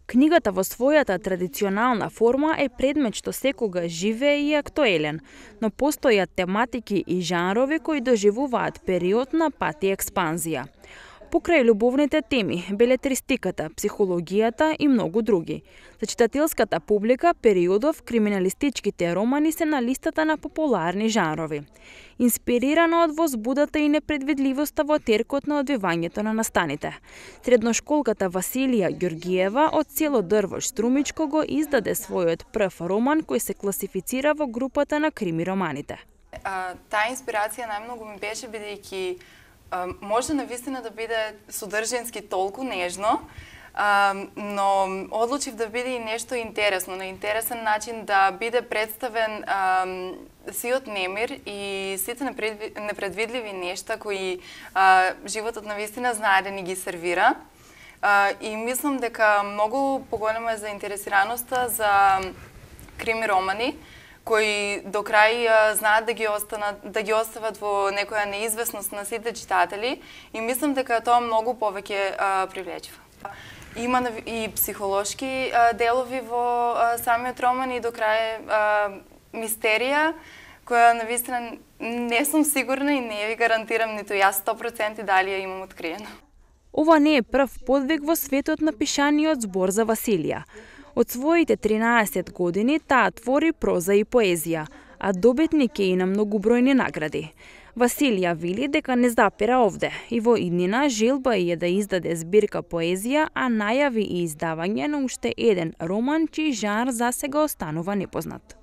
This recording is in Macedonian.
Книгата во својата традиционална форма е предмет што секогаш живее и актуелен, но постојат тематики и жанрови кои доживуваат период на пат и експанзија. Покрај љубовните теми, белетристиката, психологијата и многу други. За читателската публика, периодов криминалистичките романи се на листата на популарни жанрови. Инспирирано од возбудата и непредвидливоста во теркот на одвивањето на настаните. Средношколката Василија Ѓоргиева од село Дрвош Струмичко го издаде својот прв роман кој се класифицира во групата на крими романите. Таа инспирација најмногу ми беше бидејќи може навистина да биде содржински толку нежно, но одлучив да биде и нешто интересно, на интересен начин да биде представен сиот немир и сите непредвидливи нешта кои животот навистина знае да ни ги сервира. И мислам дека многу поголема е заинтересираноста за крими романи, кои до крај знаат да ги остават во некоја неизвестност на сите читатели и мислам дека тоа многу повеќе привлечува. Има и психолошки делови во самиот роман и до крај мистерија, која навистина не сум сигурна и не ви гарантирам ниту јас 100% дали ја имам откриено. Ова не е прв подвиг во светот на пишаниот збор за Василија. Од своите 13 години таа твори проза и поезија, а добитник е и на многубројни награди. Василија вели дека не запира овде и во иднина желба е да издаде збирка поезија, а најави и издавање на уште еден роман чиј жанр засега останува непознат.